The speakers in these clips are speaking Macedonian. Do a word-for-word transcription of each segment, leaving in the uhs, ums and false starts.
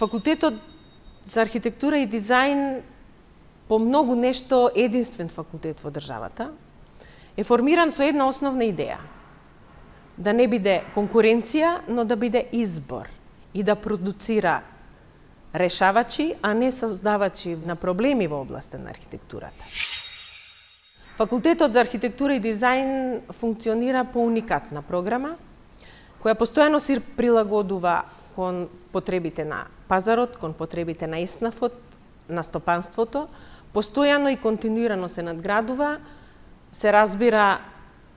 Факултетот за архитектура и дизајн по многу нешто единствен факултет во државата, е формиран со една основна идеја. Да не биде конкуренција, но да биде избор и да продуцира решавачи, а не создавачи на проблеми во областа на архитектурата. Факултетот за архитектура и дизајн функционира по уникатна програма, која постојано се прилагодува кон потребите на пазарот, кон потребите на ЕСНАФот, на стопанството, постојано и континуирано се надградува, се разбира,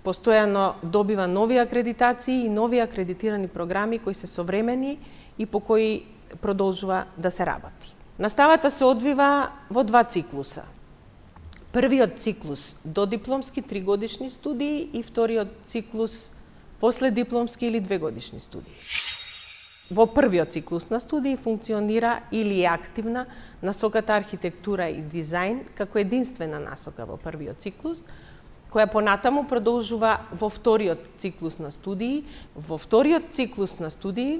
постојано добива нови акредитации и нови акредитирани програми кои се современи и по кои продолжува да се работи. Наставата се одвива во два циклуса. Првиот циклус додипломски тригодишни студии и вториот циклус последипломски или двегодишни студии. Во првиот циклус на студии функционира или е активна насоката архитектура и дизајн како единствена насока во првиот циклус, која понатаму продолжува во вториот циклус на студии. Во вториот циклус на студии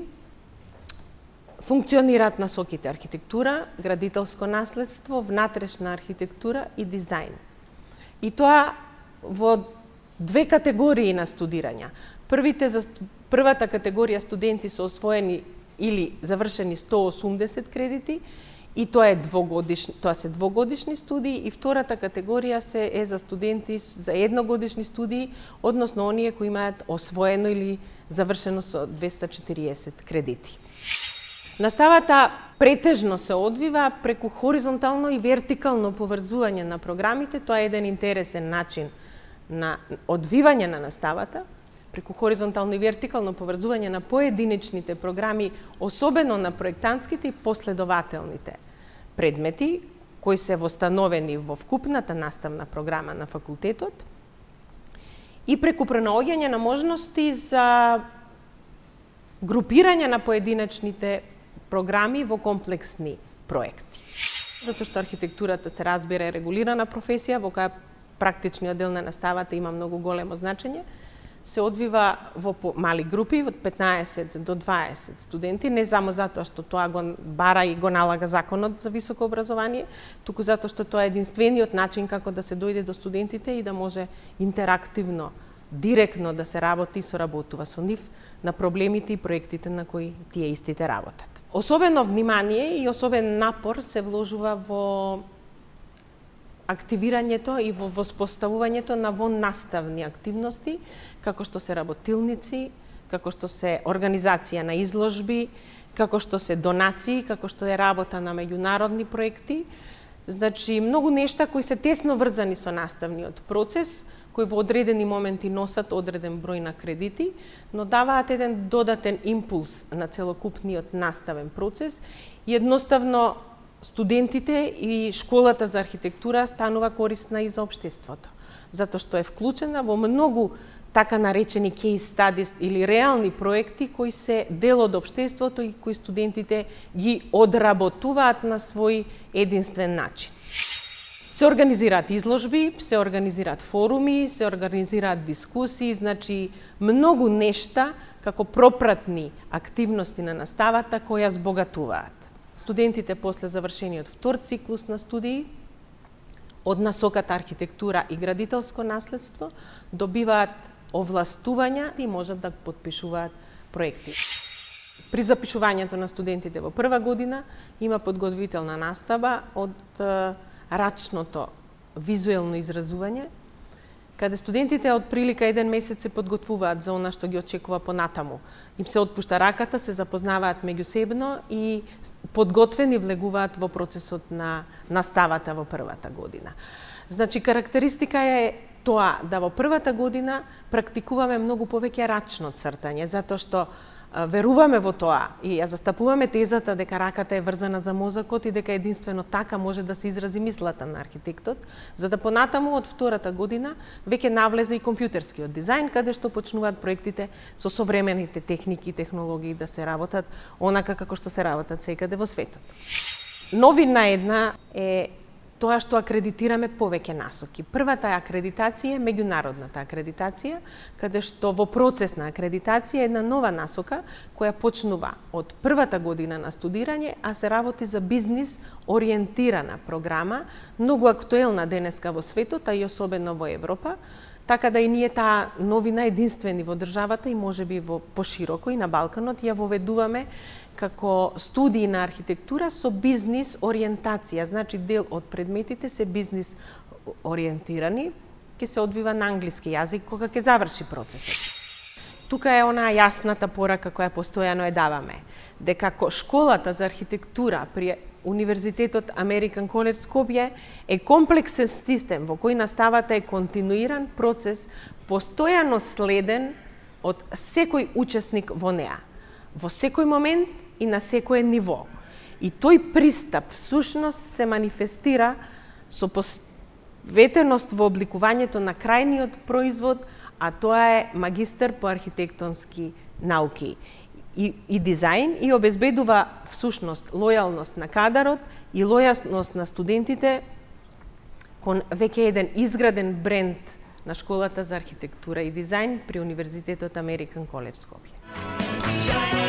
функционираат насоките архитектура, градителско наследство, внатрешна архитектура и дизајн. И тоа во две категории на студирања. Првите за првата категорија студенти се освоени или завршени сто и осумдесет кредити, и тоа е двогодишни, тоа се двогодишни студии, и втората категорија се е за студенти за едногодишни студии, односно оние кои имаат освоено или завршено со двесте и четириесет кредити. Наставата претежно се одвива преку хоризонтално и вертикално поврзување на програмите. Тоа е еден интересен начин на одвивање на наставата, преку хоризонтално и вертикално поврзување на поединечните програми, особено на проектантските и последователните предмети, кои се востановени во вкупната наставна програма на факултетот, и преку пронаоѓање на можности за групирање на поединечните програми во комплексни проекти. Затоа што архитектурата се разбира е регулирана професија, во која практичниот дел на наставата има многу големо значење, се одвива во мали групи, од петнаесет до дваесет студенти, не само затоа што тоа го бара и го налага законот за високо образование, туку затоа што тоа е единствениот начин како да се дојде до студентите и да може интерактивно, директно да се работи и соработува со нив на проблемите и проектите на кои тие истите работат. Особено внимание и особен напор се вложува во активирањето и во воспоставувањето на воннаставни активности, како што се работилници, како што се организација на изложби, како што се донации, како што е работа на меѓународни проекти. Значи, многу нешта кои се тесно врзани со наставниот процес, кои во одредени моменти носат одреден број на кредити, но даваат еден додатен импулс на целокупниот наставен процес и едноставно студентите и школата за архитектура станува корисна и за општеството, затоа што е вклучена во многу така наречени case studies или реални проекти кои се дел од општеството и кои студентите ги одработуваат на свој единствен начин. Се организираат изложби, се организираат форуми, се организираат дискусии, значи многу нешта како пропратни активности на наставата која збогатуваат. Студентите после завршениот втор циклус на студии од насоката архитектура и градителско наследство добиваат овластувања и можат да подпишуваат проекти. При запишувањето на студентите во прва година има подготвителна настава од рачното визуелно изразување, каде студентите од прилика еден месец се подготвуваат за она што ги очекува понатаму. Им се отпушта раката, се запознаваат меѓусебно и подготвени влегуваат во процесот на наставата во првата година. Значи, карактеристика е тоа да во првата година практикуваме многу повеќе рачно цртање, затоа што веруваме во тоа и ја застапуваме тезата дека раката е врзана за мозокот и дека единствено така може да се изрази мислата на архитектот, за да понатаму од втората година веќе навлезе и компјутерскиот дизајн, каде што почнуваат проектите со современите техники и технологии да се работат онака како што се работат секаде во светот. Новина една е тоа што акредитираме повеќе насоки. Првата акредитација е меѓународната акредитација, каде што во процес на акредитација е една нова насока која почнува од првата година на студирање, а се работи за бизнис ориентирана програма, многу актуелна денеска во светот, а и особено во Европа, така да и ние таа новина единствени во државата и можеби во пошироко и на Балканот ја воведуваме како студии на архитектура со бизнис ориентација, значи дел од предметите се бизнис ориентирани, ќе се одвива на англиски јазик кога ќе заврши процесот. Тука е онаа јасната порака која постојано ја даваме, дека школата за архитектура при Универзитетот Американ Коледж Скопје е комплексен систем во кој наставата е континуиран процес, постојано следен од секој учесник во неа, во секој момент и на секое ниво. И тој пристап всушност се манифестира со посветеност во обликувањето на крајниот производ, а тоа е магистер по архитектонски науки и, и дизајн и обезбедува всушност лојалност на кадарот и лојалност на студентите кон веќе еден изграден бренд на школата за архитектура и дизајн при Универзитетот Американ Коледж Скопје.